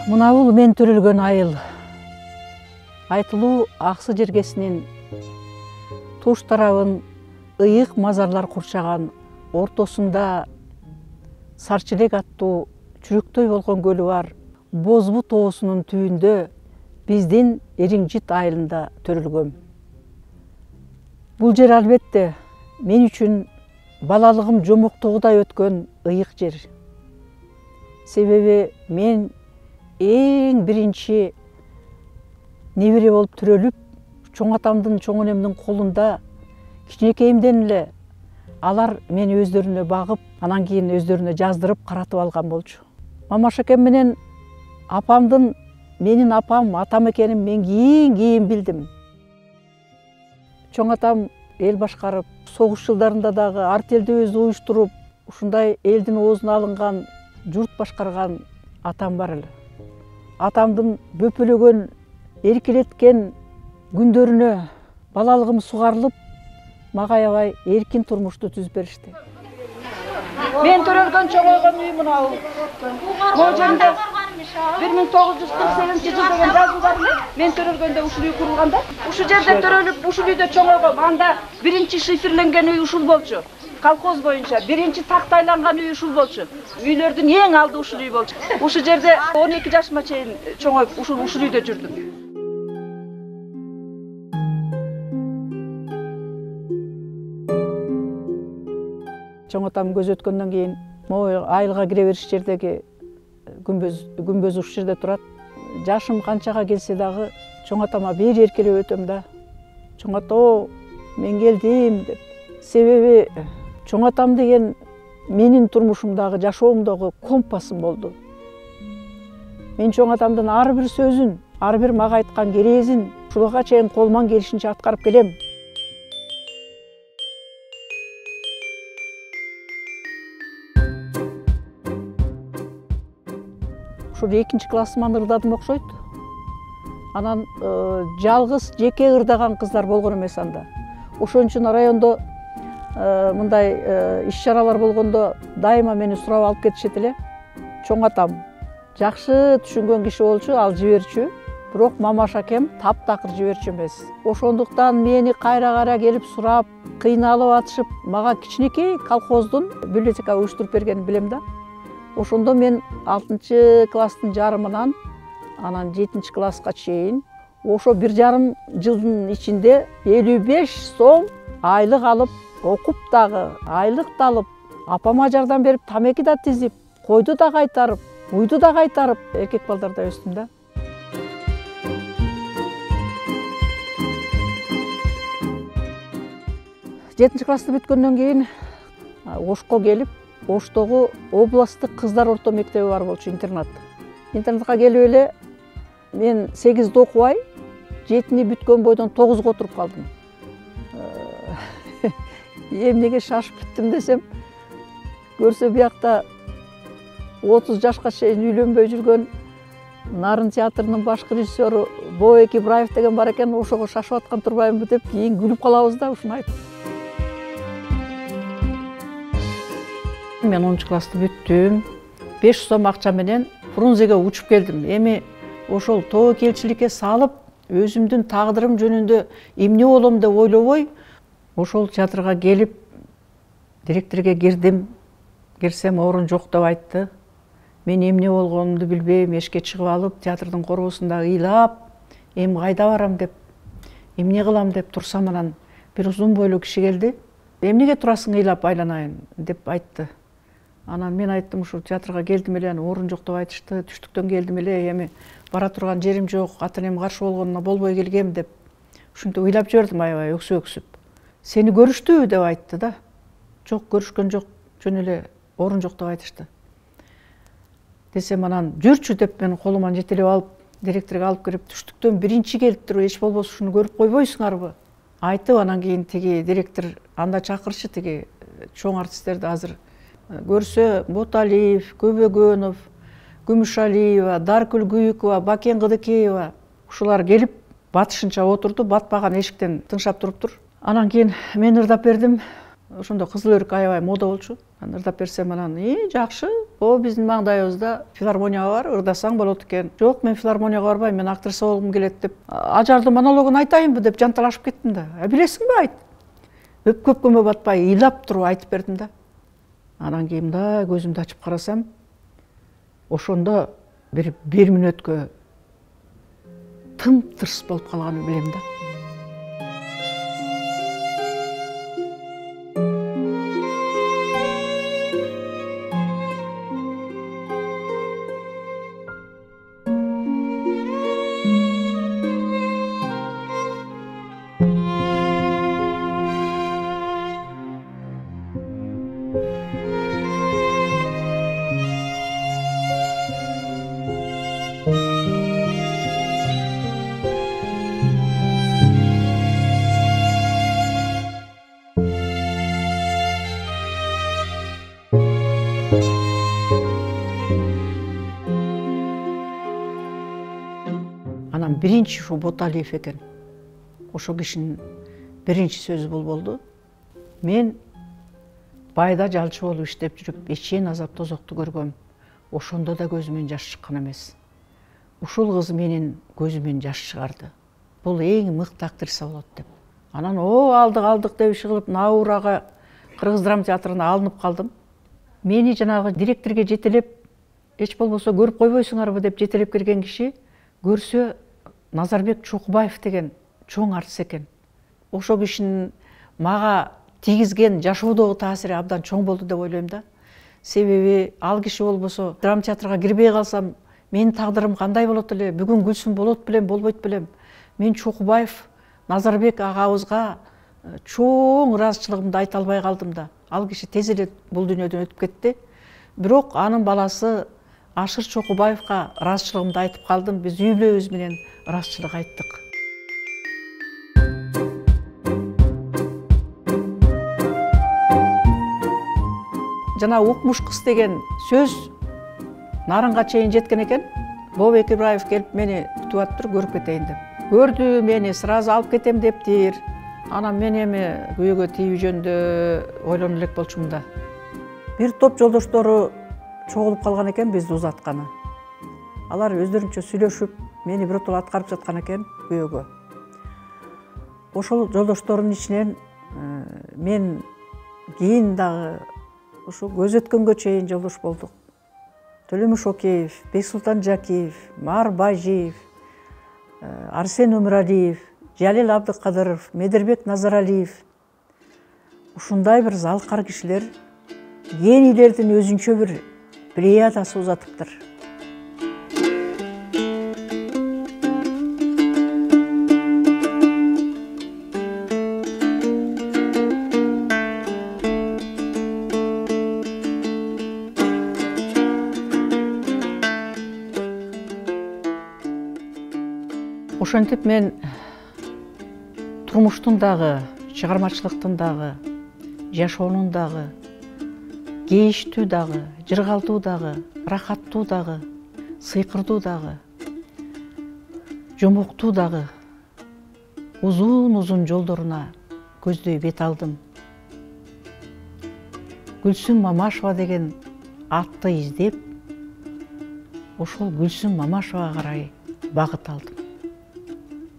Мына бул мен төрөлгөн айыл. Айтылуу Аксы жергесинин туш тарабын ыйык мазарлар курчаган, ортосунда Сарчелек аттуу чүрөктөй болгон көлү бар Бозбу тоосунун түбүндө биздин Эриңжит айылында төрөлгөм. Бул жер албетте мен үчүн балалыгым жомоктогудай өткөн ыйык жер. Себеби мен эң биринчи небере болуп төрөлүп, чоң атамдын, чоң энемдин колунда кичинекейимден эле алар мени өздөрүнө багып, анан кийин өздөрүнө жаздырып каратып алган болчу. Мамаш экем менен апамдын, менин апам, атам экенин мен кийин билдим. Чоң атам эл башкарып, согуш жылдарында дагы артелдебизди уюштуруп, ушундай элдин оозуна алынган, журт башкарган атам бар эле. Атамдын бөпөлөгөн, эркелеткен күндөрүнө балалыгым сугарылып, мага аябай эркин турмушту түзүп беришти. Мен төрөлгөн чоңойгон үй мына бул. Бул жерде 1948 жылдагы жазуулар эле мен төрөлгөндө ушул үй курулганда, ушу жерде төрөлүп, ушул үйдө чоңойгом. Анда биринчи шиферленген үй ушул болчу. Колхоз боюнча биринчи тактайланган үй ушул болчу. Үйлөрдүн эң алды ушул үй болчу. Ушул жерде 12 жашыма чейин чоңоюп ушул үйдө жүрдүм. Чоң атам көз өткөндөн кийин могу айылга кире бериш жердеги күмбөз ушул жерде турат. Жашым канчага келсе дагы чоң атама бери эркелеп өтөм да. Чоң ата, мен келдим деп. Себеби чоң атам деген менин турмушумдагы, жашоомдогу компасым болду. Мен чоң атамдын ар бир сөзүн, ар бир мага айткан керезин ушулга чейин колуман келишинче аткарып келем. Ушул 2-нчи классыман ырдадым окшойт. Анан жалгыз жеке ырдаган кыздар болгон эмес анда. Ошон үчүн райондо мындай иш-чаралар болгондо дайыма мени сурап алып кетишет эле. Чоң атам жакшы түшүнгөн киши болчу, ал жиберчү. Бирок Мамаш акем таптакыр жиберчү эмес. Ошондуктан мени кайра келип сурап, кыйналып атышып, мага кичинекей колхоздун библиотека уюштуруп бергенин билем да. Ошондо мен 6-чы класстын жарымынан анан 7-чи класска чейин ошо 1,5 жылдын ичинде 55 сом айлык алып, окуп дагы, айлык да алып, апама жардам берип, тамеки да тизип, койду да кайтарып, уйду да кайтарып, эркек балдарда өстүм да. Жетинчи классты бүткөндөн кийин Ошко келип, Оштогу областтык кыздар орто мектеби бар болчу, интернат. Интернатка келип эле мен 8-де окубай, 7-ни бүткөн бойдон 9-го отуруп калдым. Эмнеге шашып бүттүм десем, көрсө биякта 30 жашка чейин үйлөнбөй жүргөн Нарын театрынын башкы режиссеру Боек Ибраев деген бар экен, ошого шашып аткан турбаймынбы деп кийин күлүп калабыз да ушуну айтып. Мен 10-чу классты бүттүм. 5 сом акча менен Фрунзеге учуп келдим. Эми ошол тобокелчиликке салып, өзүмдүн тагдырым жөнүндө эмне болом деп ойлобой, ошол театрга келип, директорге кирдим. Кирсем орун жок деп айтты. Мен эмне болгонумду билбей, эшикке чыгып алып, театрдын корбусунда ыйлап, эми кайда барам деп, эмне кылам деп турсам, анан бир узун бойлуу киши келди. Эмнеге турасың ыйлап айланайын деп айтты. Анан мен айттым, ушу театрга келдим эле, орун жок деп айтышты, түштүктөн келдим эле, эми бара турган жерим жок, ата-энем каршы болгонуна болбой келгем деп. Ушинтип ыйлап жибердим аябай өксүп. Сени көрүштүбү деп айтты да. Жок, көрүшкөн жок, жөн эле орун жок деп айтышты. Десем, анан жүрчү деп мен колуман жетелеп алып, директорго алып кирип, түштүктөн биринчи келиптир, эч болбосо ушуну көрүп койбойсуңарбы? Айтып, анан кийин тиги директор анда чакырчы, тиги чоң артисттерди азыр көрсө, Боталиев, Көбөгөнов, Күмүшалиева, Даркүл Күйүкова, Бакен Кыдыкеева ушулар келип батышынча отурду, батпаган эшиктен тыңшап туруптур. Анан кийин мен ырдап бердим. ошондо кызыл өрүк аябай мода болчу. Анан ырдап берсем анан жакшы, о биздин маңдайыбызда филармония бар, ырдасаң болот экен. Жок, мен филармонияга барбайм, мен актриса болгум келет деп. Ажардын монологун айтайынбы деп жанталашып кеттим да. Билесиңби, айт. Өпкөпкөмө батпай ыйлап туруп айтып бердим да. Анан кийин мындай көзүмдү ачып карасам, ошондо бир мүнөткө тым-тырс болуп калганын билем да. Анан биринчи ушу Боталиев экен. Ошо кишинин биринчи сөзү бул болду. Мен байда жалчы болуп иштеп жүрүп, эчен азап тозокту көргөм. Ошондо да көзүмөн жаш чыккан эмес. Ушул кыз менин көзүмөн жаш чыгарды. Бул эң мыкты актриса болот деп. Анан алдык деп иши кылып Наурага Кыргыз драма театрына алынып калдым. Мени жанагы директорге жетелеп, эч болбосо көрүп койбойсуңарбы деп жетелеп келген киши көрсө Назарбек Чокубаев деген чоң артист экен. Ошо кишинин мага тийгизген жашоодогу таасири абдан чоң болду деп ойлойм да. Себеби ал киши болбосо драма театрга кирбей калсам, менин тагдырым кандай болот эле, бүгүн Гүлсүм болот белем, болбойт белем. Мен Чокубаев Назарбек агабызга чоң ыраазычылыгымды айта албай калдым да. Ал киши тез эле бул дүйнөдөн өтүп кетти. Бирок анын баласы Ашыр Чокубаевга ыраазычылыгымды айтып калдым. Биз үй бүлөбүз менен ыраазычылык айттык. Жана укмуш кыз деген сөз нарынга чейин жеткен экен. Бобек Ибраев келип мени күтүп атыптыр, көрүп кетейин деп. Көрдү мени, сразу алып кетем дептир. Анан мен эми күйөөгө тийүү жөнүндө ойлоно элек болчумун да. Бир топ жолдоштору чогулуп калган экен бизди узатканы. Алар өздөрүнчө сүйлөшүп, мени биротоло аткарып жаткан экен күйөөгө. Ошол жолдоштордун ичинен мен кийин дагы ушу көз өткөнгө чейин жолдош болдук. Төлөмүш Океев, Бексултан Жакиев, Маар Бажиев, Арсен Өмүралиев, Жалил Абдыкадыров, Медербек Назаралиев. Ушундай бир залкар кишилер генийлердин өзүнчө бир плеядасы узатыптыр. Ошентип мен турмуштун дагы, чыгармачылыктын дагы, жашоонун дагы, кейиштүү дагы, жыргалдуу дагы, рахаттуу дагы, сыйкырдуу дагы, жомоктуу дагы узун жолдоруна көздөй бет алдым. Гүлсүм Мамашева деген атты издеп, ошол Гүлсүм Мамашевага карай багыт алдым.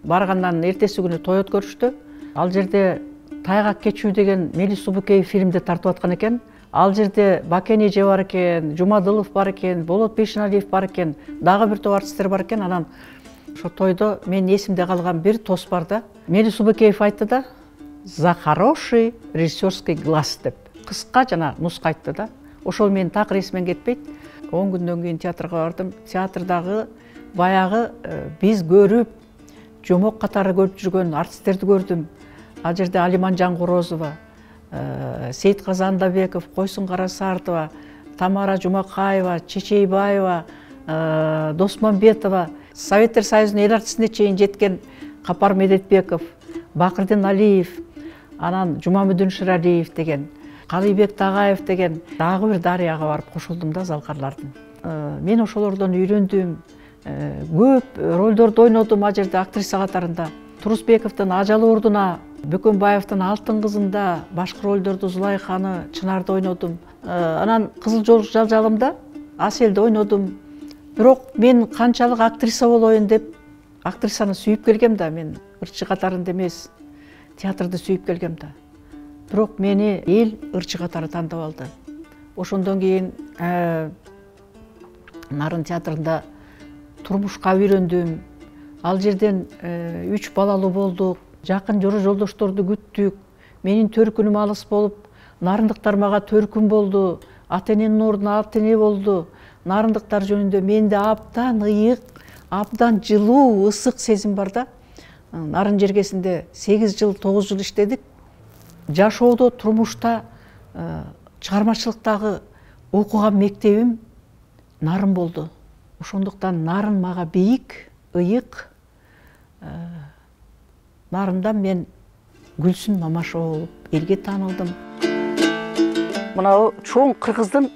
Баргандан эртеси күнү той өткөрүштү. Ал жерде Тайгак кечүү деген Мелис Субукеев фильмде тартып аткан экен. Ал жерде Бакен эже бар экен, Жумадылов бар экен, Болот Бейшеналиев бар экен, дагы бир топ артисттер бар экен. Анан ошо тойдо менин эсимде калган бир тос бар да. Мелис Субукеев айтты да: "За хороший режиссерский глаз" деп. Кыска жана нуска айтты да. Ошол менин так эсимден кетпейт. 10 күндөн кийин театрга бардым. Театрдагы баягы биз көрүп жомок катары көрүп жүргөн артисттерди көрдүм. Ал жерде Алиман Жангорозова, Сейитказы Андабеков, Койсун Карасартова, Тамара Жумакаева, Чечейбаева, Досмамбетова, Советтер Союзунун эл артистине чейин жеткен Капар Медетбеков, Бакырдин Алиев, анан Жумамүдүн Шыралиев деген, Калыйбек Тагаев деген дагы бир дарыяга барып кошулдум да залкарлардын. Мен ошолордон үйрөндүм. Көп ролдорду ойнодум ал жерде актриса катарында. Турусбековдун Ажал ордуна, Бөкөнбаевдин Алтын кызында башкы ролдорду Зулайханы, Чынарды ойнодум. Анан Кызыл жол жалжалымда Аселди ойнодум. Бирок мен канчалык актриса болоюн деп актрисаны сүйүп келгем да, мен ырчы катарында эмес, театрды сүйүп келгем да. Бирок мени эл ырчы катары тандап алды. Ошондон кийин Нарын театрында турмушка үйрөндүм. Ал жерден 3 балалуу болдук. Жакын жолдошторду күттүк. Менин төркүнүм алыс болуп, нарындыктар мага төркүн болду. Ата эненин ордуна ата эне болду. Нарындыктар жөнүндө менде абдан ыйык, абдан жылуу, ысык сезим бар да. Нарын жергесинде 8 жыл, 9 жыл иштедик. Жашоодо, турмушта, чыгармачылыктагы окуган мектебим Нарын болду. Ошондуктан Нарын мага бийик, ыйык. Нарындан мен Гүлсүн Мамашева болуп элге таанылдым. Мына чоң кыргыздын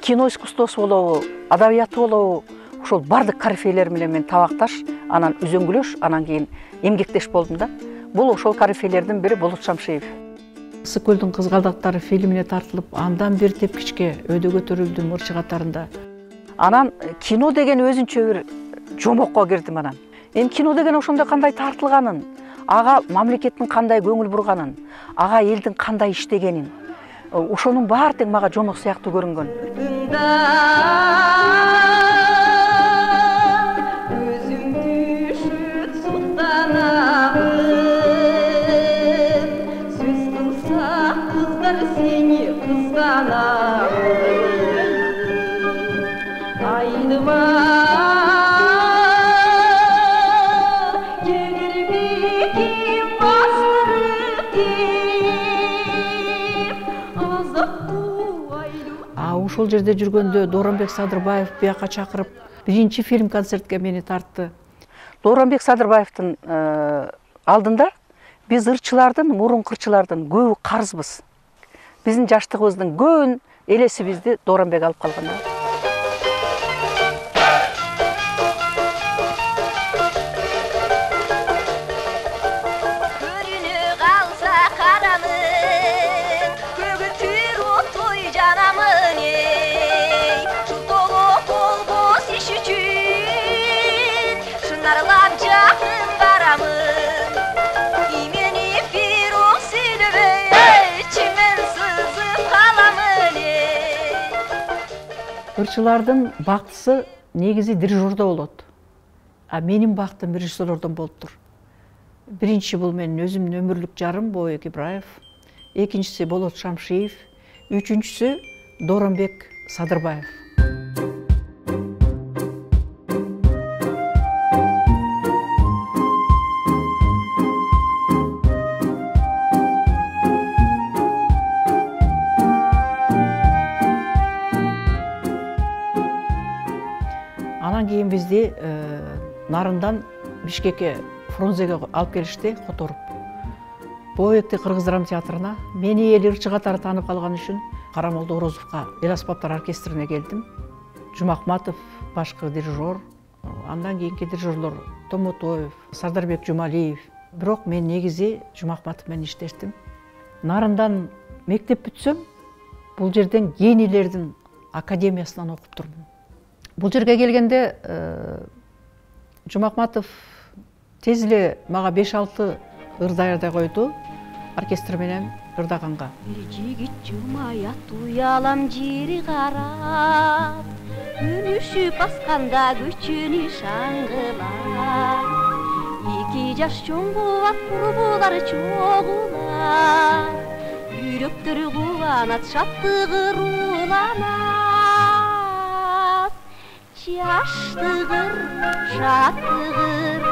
кино искусствосу болобу, адабияты болобу, ошол бардык корифейлер менен мен табакташ, анан үзөңгүлөш, анан кийин эмгектеш болдум да. Бул ошол корифейлердин бири Болот Шамшиев. Ысык көлдүн кызгалдактары фильмине тартылып, андан бир тепкичке өйдө көтөрүлдүм ырчы катарында. Анан кино деген өзүнчө бир жомокко кирдим анан. Эми кино деген ошондой кандай тартылганын, ага мамлекеттин кандай көңүл бурганын, ага элдин кандай иштегенин, ошонун баары тең мага жомок сыяктуу көрүнгөн. Ошол жерде жүргөндө Дооронбек Садырбаев бияка чакырып, биринчи фильм концертке мени тартты. Дооронбек Садырбаевдин алдында биз ырчылардын, мурунку ырчылардын көбү карызбыз. Биздин жаштыгыбыздын көбүн элесибизди Дооронбек алып калган. Ырчылардын бактысы негизи дирижердо болот. А менин бактым режиссерлордон болуптур. Биринчи бул менин өзүмдүн өмүрлүк жарым Бообек Ибраев, экинчиси Болот Шамшиев, үчүнчүсү Дооронбек Садырбаев. Анан кийин бизди Нарындан Бишкекке, Фрунзеге алып келишти, которуп. Бообекти Кыргыз драма театрына, мени эл ырчы катары таанып калган үчүн Карамолдо Орозовго эл аспаптар оркестрине келдим. Жумакматов башкы дирижер, андан кийинки дирижерлор Томотоев, Сардарбек Жумалиев. Бирок мен негизи Жумакматов менен иштештим. Нарындан мектеп бүтсөм, бул жерден генийлердин академиясынан окуп турдум. Бул жерге келгенде Жумакматов тез эле мага 5-6 ыр даярдай койду, оркестр менен ырдаганга. Бир жигит жумаят уялам жери карап, үнүшүп асканда көчөнү шаңгылап. Эки жаш чоңгубат курбулар чогулар, жүрөктөр кубанат, шаттыгы рууланат. Жаштыгыр, шаттыгыр,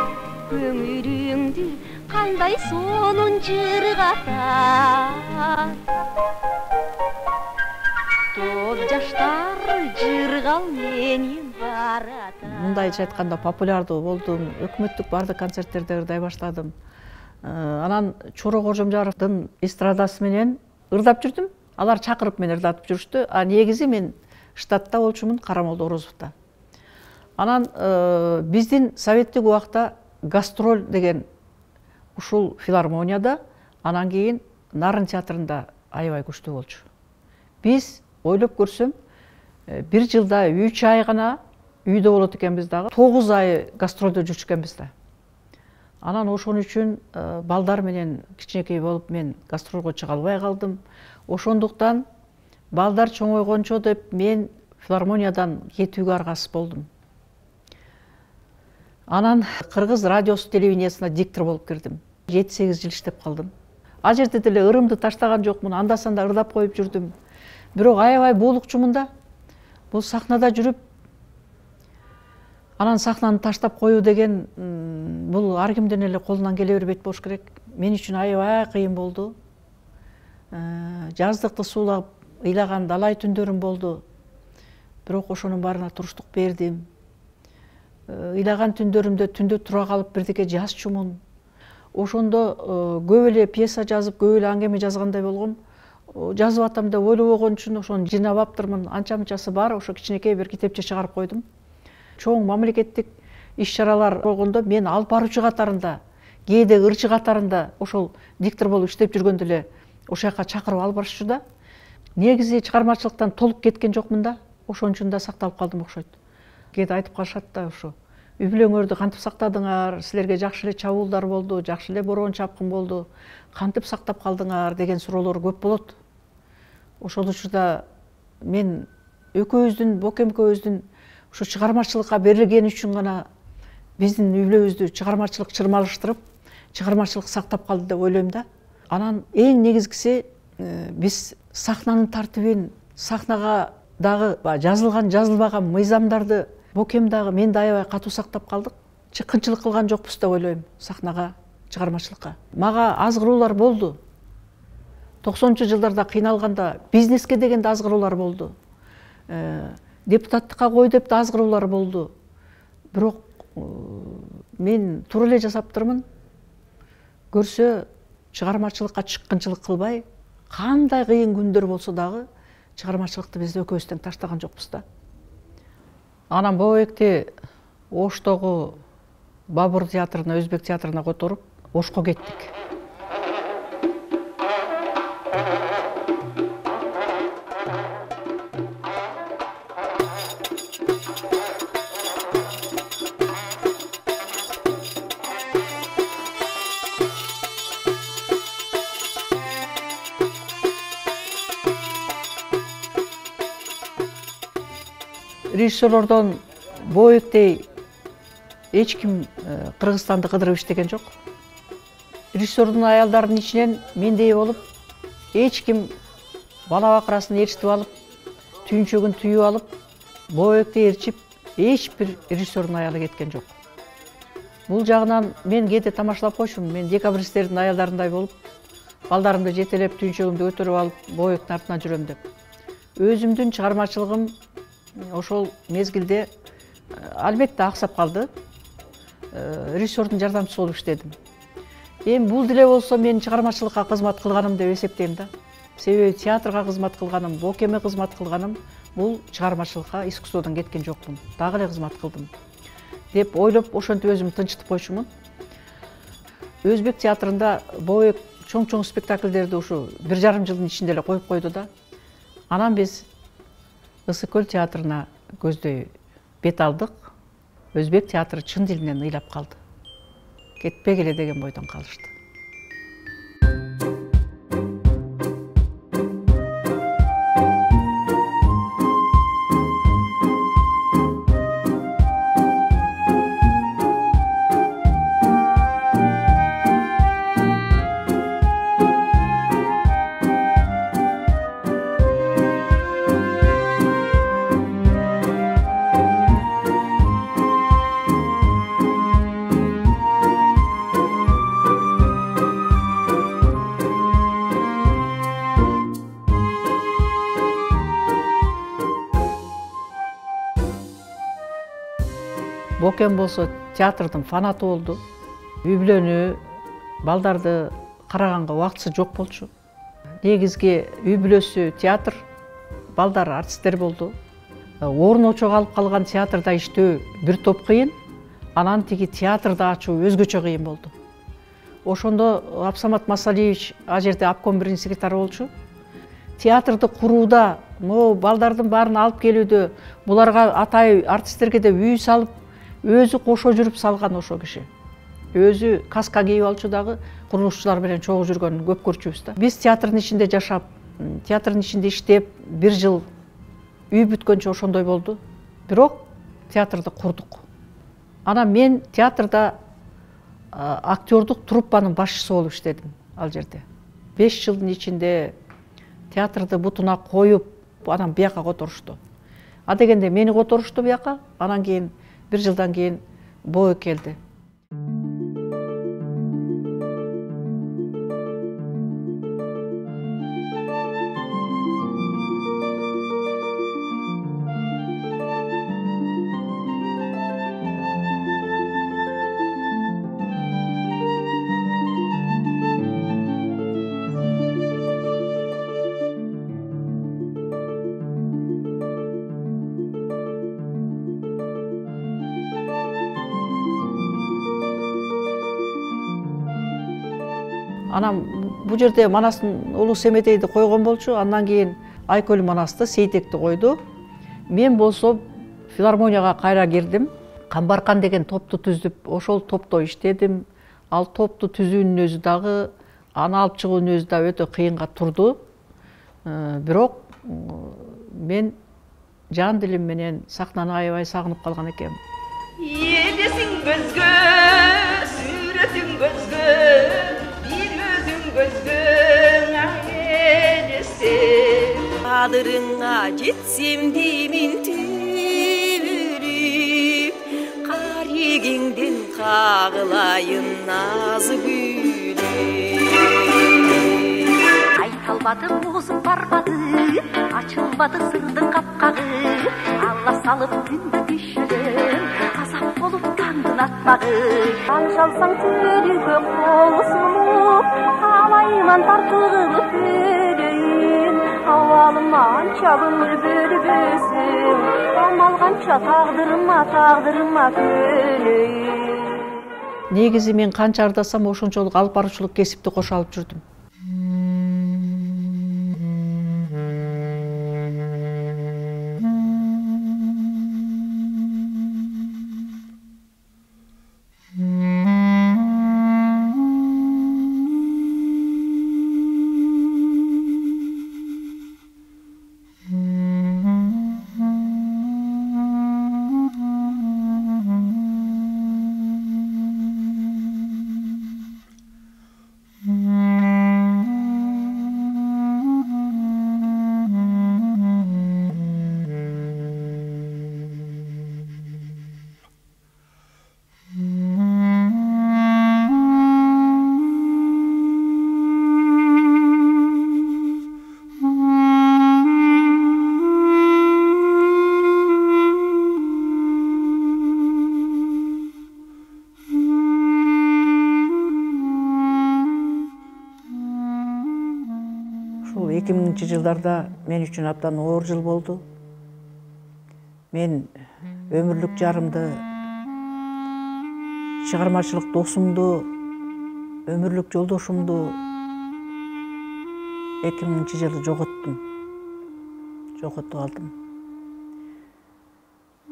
көңүлүңдү кандай сонун жыргатат. Тоз жаштар жыргал менен баратат. Мындайча айтканда популярдуу болдум, өкмөттүк бардык концерттерде ырдай баштадым. Анан Чоро Кожомжаровдун эстрадасы менен ырдап жүрдүм. Алар чакырып мени ырдатып жүрүштү. А негизи мен штатта болчумун Карамолдо Орозовдо. Анан биздин советтик убакта гастроль деген ушул филармонияда, анан кийин Нарын театрында аябай күчтүү болчу. Биз ойлоп көрсөм, 1 жылда 3 ай гана үйдө болот экенбиз дагы, 9 ай гастролдо жүрчү экенбиз да. Анан ошон үчүн балдар менен кичинекей болуп мен гастролго чыга албай калдым. Ошондуктан балдар чоңойгончо деп мен филармониядан кетүүгө аргасыз болдум. Анан Кыргыз радиосу телевидениясына диктор болуп кирдим. 7-8 жыл иштеп калдым. Ал жерде деле ырымды таштаган жокмун, анда-санда ырдап коюп жүрдүм. Бирок аябай буулукчумун да. Бул сахнада жүрүп, анан сахнаны таштап коюу деген бул ар кимден эле колунан келе бербейт болуш керек. Мен үчүн аябай кыйын болду. Жаздыкты суулап ыйлаган далай түндөрүм болду. Бирок ошонун баарына туруштук бердим. Ыйлаган түндөрүмдө түндө тура калып бирдеке жазчумун. Ошондо көп эле пьеса жазып, көп эле аңгеме жазгандай болгом. Жазып атам деп ойлобогон үчүн ошону жыйнап аптырмын. Анча-мынчасы бар, ошо кичинекей бир китепче чыгарып койдум. Чоң мамлекеттик иш-чаралар болгондо мен алып баруучу катарында, кээде ырчы катарында ошол диктор болуп иштеп жүргөндө эле ошол жака чакырып алып барышчу да. Негизи чыгармачылыктан толук кеткен жокмун да. Ошон үчүн да сакталып калдым окшойт. Кээде айтып калышат да, ошо үй бүлөңөрдү кантип сактадыңар, силерге жакшы эле чабуулдар болду, жакшы эле бороон чапкын болду, кантип сактап калдыңар деген суроолор көп болот. Ошол учурда мен экөөбүздүн, Бокем экөөбүздүн ушу чыгармачылыкка берилгени үчүн гана биздин үй бүлөбүздү чыгармачылык чырмалыштырып, чыгармачылык сактап калды деп ойлойм да. Анан эң негизгиси биз сахнанын тартибин, сахнага дагы жазылган, жазылбаган мыйзамдарды Бокем дагы мен да аябай катуу сактап калдык. Чыккынчылык кылган жокпуз деп ойлойм сахнага, чыгармачылыкка. Мага азгыруулар болду. 90-чы жылдарда кыйналганда бизнеске деген да азгыруулар болду. Депутаттыкка кой деп да азгыруулар болду. Бирок мен туура эле жасаптырмын. Көрсө чыгармачылыкка чыккынчылык кылбай, кандай кыйын күндөр болсо дагы чыгармачылыкты биз экөөбүз тең таштаган жокпуз да. Анан Бобекти Оштогу Бабур театрына, Өзбек театрына которуп, Ошко кеттик. Режиссерлордон Бобектей эч ким Кыргызстанды кыдырып иштеген жок. Режиссердун аялдарынын ичинен мендей болуп, эч ким бала бакырасын ээрчитип алып, түйүнчөгүн түйүп алып, Бобекти ээрчип, эч бир режиссердун аялы кеткен жок. Бул жагынан мен кээде тамашалап койчумун. Мен декабристтердин аялдарындай болуп, балдарымды жетелеп, түйүнчөгүмдү көтөрүп алып, Бобектин артынан жүрөм деп. Өзүмдүн чыгармачылыгым ошол мезгилде албетте аксап калды. Режиссердун жардамчысы болуп иштедим. Эми бул деле болсо мен чыгармачылыкка кызмат кылганым деп эсептейм да. Себеби театрга кызмат кылганым, Бокемге кызмат кылганым, бул чыгармачылыкка, искусстводон кеткен жокмун. Дагы эле кызмат кылдым деп ойлоп, ошентип өзүмдү тынчытып койчумун. Өзбек театрында Бобек чоң-чоң спектакльдерди ушу 1,5 жылдын ичинде эле коюп койду да. Анан биз Ысык-Көл театрына көздөй бет алдык. Өзбек театры чын дилинен ыйлап калды. Кетпегиле деген бойдон калышты. Бокем болсо театрдын фанаты болду. Үй бүлөнү, балдарды караганга убактысы жок болчу. Негизги үй бүлөсү театр, балдар артисттер болду. Орун очого алып калган театрда иштөө бир топ кыйын, анан тиги театрда ачуу өзгөчө кыйын болду. ошондо Абсамат Масалиевич ал жерде обком биринчи секретары болчу. Театрды курууда, могу балдардын баарын алып келүүдө, буларга атай артисттерге деп үй салып, өзү кошо жүрүп салган ошо киши. Өзү каска кийип алчу дагы, курулушчулар менен чогуу жүргөн көп көрчүбүз да. Биз театрдын ичинде жашап, театрдын ичинде иштеп, 1 жыл үй бүткөнчө ошондой болду. Бирок театрды курдук. Анан мен театрда актёрдук труппанын башчысы болуп иштедим ал жерде. 5 жылдын ичинде театрды бутуна коюп, анан бияка которушту. А дегенде мени которушту бияка, анан кийин 1 жылдан кийин боо келди. Анан бул жерде Манастын улуу Семетейди койгон болчу, андан кийин Айкөл Манасты, Сейтекти койду. Мен болсо филармонияга кайра кирдим. Камбаркан деген топту түздүп, ошол топто иштедим. Ал топту түзүүнүн өзү дагы, аны алып чыгуунун өзү да өтө кыйынга турду. Бирок мен жан дилим менен сахнаны аябай сагынып калган экенмин. Елесиң көзгө, сүрөтүң көзгө, gözgün ailesi Kadırına gitsem demin tübülüp Kariginden kağılayın nazı gülüp Aytalmadı bozum barmadı, açılmadı sırdın kapkağı Allah salıp gündü düşürüm, azap olup kandın atmağı Kanşalsan tülüge kolu sunup, alayman tartılıp öleyim Havalımdan çabınır bülbülsün, olmalgança tağdırıma köleyim Негизи мен канча ардасам ошончолук алып баруучулук кесипти кошо алып жүрдүм. Ушул 2000-жылдарда мен үчүн абдан оор жыл болду. Мен өмүрлүк жарымды, чыгармачылык досумду, өмүрлүк жолдошумду 2000-жылы жоготуп алдым.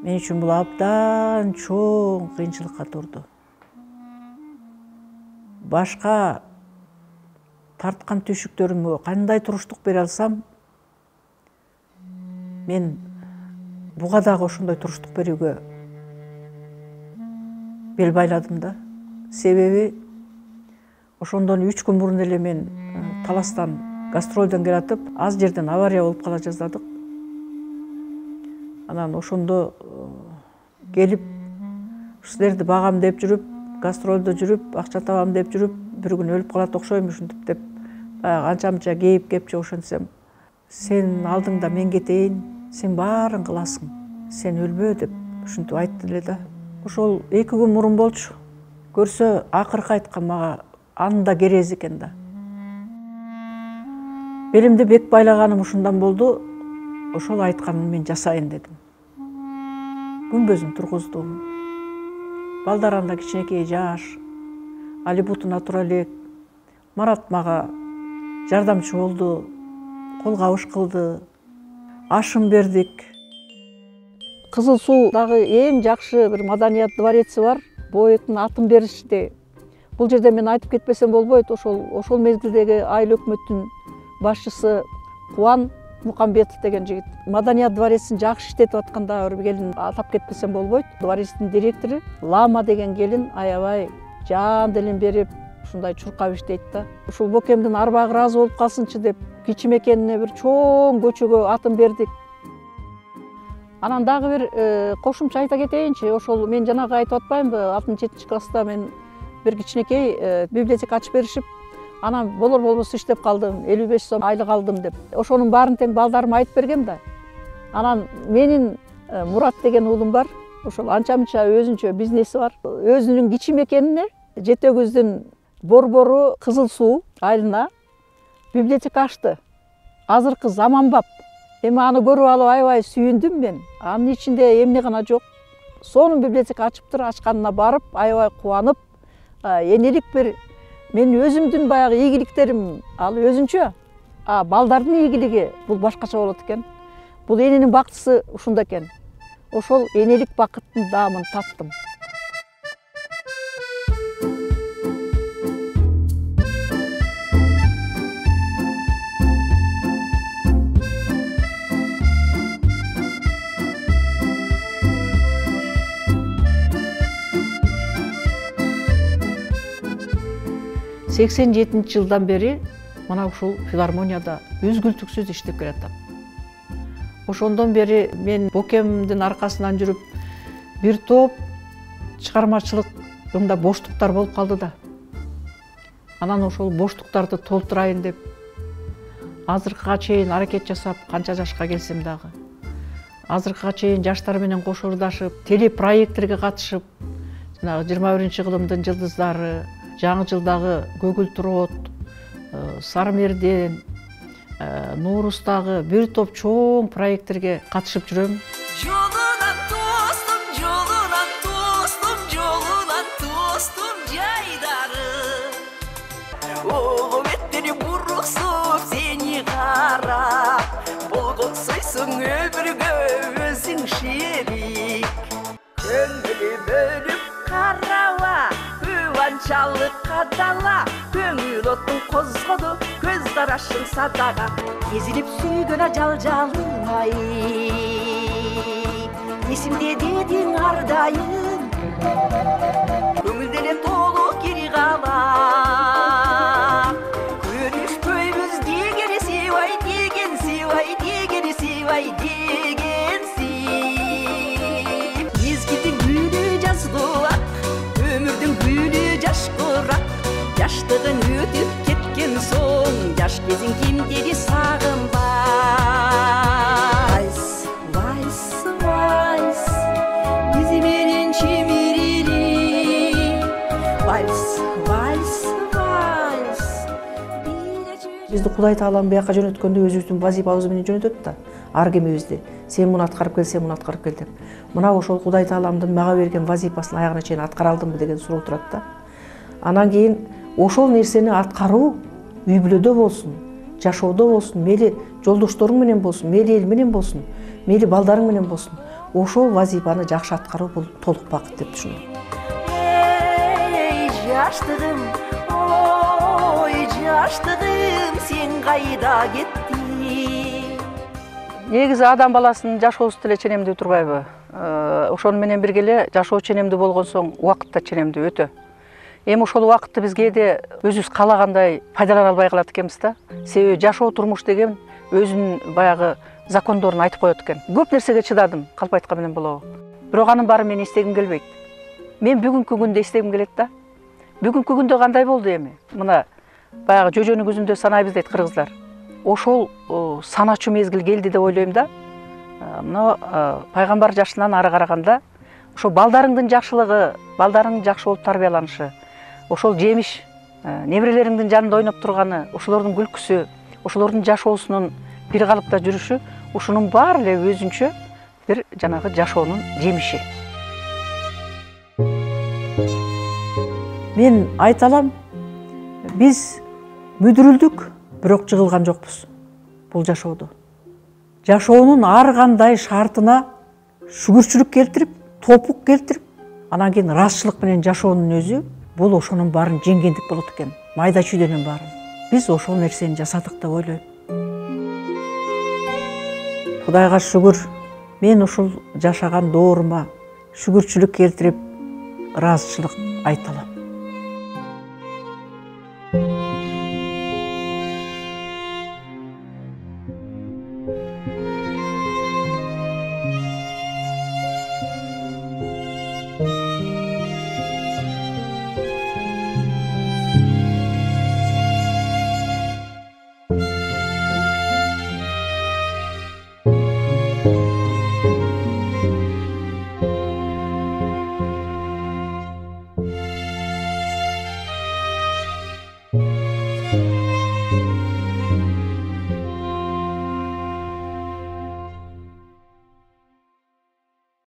Мен үчүн бул абдан чоң кыйынчылыкка турду. Башка тарткан түйшүктөрүмө кандай туруштук бере алсам, мен буга дагы ошондой туруштук берүүгө бел байладым да. Себеби ошондон 3 күн мурун эле мен Таластан гастролдон келатып, аз жерден авария болуп кала жаздадык. Анан ошондо келип, силерди багам деп жүрүп, гастролдо жүрүп, акча табам деп жүрүп, bir gün өлүп калат окшойм ушинтип деп, канча-мынча кейип кепчи ошентсем, сен алдыңда мен кетейин, сен баарын кыласың, сен өлбө деп ушинтип айтты эле да. Ошол 2 күн мурун болчу. Көрсө акыркы айткан мага анда керези экен да. Белимди бек байлаганым ушундан болду. Ошол айтканын мен жасайын дедим. Күнбөзүн тургуздум. Балдар анда кичинекей жаш. Алибуту натуралек, Марат мага жардамчы болду, кол кабыш кылды, ашым бердик. Кызыл Суудагы эң жакшы бир маданият двореци бар. Боектин атын беришти. Бул жерде мен айтып кетпесем болбойт. Ошол мезгилдеги айыл өкмөттүн башчысы Кубан Мукамбетов деген жигит. Маданият дворецин жакшы иштетип атканда бир келин атап кетпесем болбойт. Дворецтин директору Лама деген келин аябай жан делин берип, ушундай чуркап иштейт да. Ушул бокемдин арбагы ыраазы болуп калсынчы деп кичи мекенине бир чоң көчөгө атын бердик. Анан дагы бир кошумча айта кетейинчи. Ошол мен жанагы айтып атпаймынбы, 6-7 класста мен бир кичинекей библиотека ачып беришип, анан болор болбосо иштеп калдым, 55 сом айлык алдым деп. Ошонун баарын тең балдарыма айтып бергем да. Анан менин Мурат деген уулум бар. Ошол анча-мынча өзүнчө бизнеси бар. Өзүнүн кичи мекенине Жети Өгүздүн борбору Кызыл Суу айылына библиотека ачты. Азыркы заманбап. Эми аны көрүп алып аябай сүйүндүм мен. Анын ичинде эмне гана жок. Сонун библиотека ачыптыр, ачканына барып аябай кубанып, энелик бир мен өзүмдүн баягы ийгиликтерим ал өзүнчө. Балдардын ийгилиги бул башкача болот экен. Бул эненин бактысы ушунда экен. Ошол энелик бакыттын даамын таттым. Сексен жетинчи жылдан бери мына ушул филармонияда үзгүлтүксүз иштеп келатам. Ошондон бери мен бокемдин аркасынан жүрүп, бир топ чыгармачылыгымда боштуктар болуп калды да. Анан ошол боштуктарды толтурайын деп азыркыга чейин аракет жасап, канча жашка келсем дагы азыркыга чейин жаштар менен кошурдашып, телепроекттерге катышып, жанагы 21-кылымдын жылдыздары, жаңы жылдагы Көгүлтүр от, Сары Мерден, Нуурустагы бир топ чоң проекттерге катышып жүрөм. Жолунан тостум, жолунан тостум, жолунан тостум жайдары. Ого беттери буруксуп сени карап, болгонсойсуң өмүргө өзүң шерик. Көңүлү бөлүп караба, кубанчалык кадала, көңүл отун козгоду, көз карашың садага. Эзилип сүйгөн ажал жалыңай, эсимде дедиң ардайым, көңүлдө эле толук кири кала. Көрүшпөйбүз дегени сыйбай, деген сыйбай, дегени сыйбай, дегенси. Мезгилдин күнү жазгылак, өмүрдүн күнү жаш курак, жаштыгын өтүп кеткен соң, жаш кезиң кимдери сагынбай. Вайс, вайс, бизи менен чимирили. Вайс, вайс, вайс. Бизди Кудай Таалам бияка жөнөткөндө өзүбүздүн вазифабыз менен жөнөтөт да. Ар кимибизди сен муну аткарып кел, сен муну аткарып кел деп. Мына ошол Кудай Тааламдын мага берген вазифасын аягына чейин аткара алдымбы деген суроо турат да. Анан кийин ошол нерсени аткаруу үй бүлөдө болсун, жашоодо болсун, мейли жолдошторуң менен болсун, мейли эл менен болсун, мейли балдарың менен болсун, ошол вазифаны жакшы аткаруу бул толук бакыт деп түшүнөм. Эй, жаштыгым, ой, жаштыгым, сен кайда кеттиң? Негизи адам баласынын жашоосу деле ченемдүү турбайбы? Ошону менен бирге эле жашоо ченемдүү болгон соң убакыт да ченемдүү өтө. Эми ошол убакытты биз кээде өзүбүз каалагандай пайдалана албай калат экенбиз да. Себеби жашоо турмуш деген өзүнүн баягы закондорун айтып коет экен. Көп нерсеге чыдадым, калп айткан менен болобу. Бирок анын баарын мен эстегим келбейт. Мен бүгүнкү күндү эстегим келет да. Бүгүнкү күндө кандай болду эми? Мына баягы жөжөнүн көзүндө санайбыз дейт кыргыздар. Ошол саначу мезгил келди деп ойлойм да. Мына пайгамбар жашынан ары караганда ошо балдарыңдын жакшылыгы, балдарың жакшы болуп тарбияланышы, ошол жемиш, неберелериңдин жанында ойноп турганы, ошолордун күлкүсү, ошолордун жашоосунун бир калыпта жүрүшү, ушунун баары эле өзүнчө бир жанагы жашоонун жемиши. мен айта алам, биз мүдүрүлдүк, бирок жыгылган жокпуз бул жашоодо. Жашоонун ар кандай шартына шүгүрчүлүк келтирип, топук келтирип, анан кийин ыраазычылык менен жашоонун өзү бул ошонун баарын жеңгендик болот экен. Майда чүйдөнүн баарын. Биз ошол нерсени жасадык деп ойлойм. Кудайга шүгүр, мен ушул жашаган доорума шүгүрчүлүк келтирип, ыраазычылык айта алам.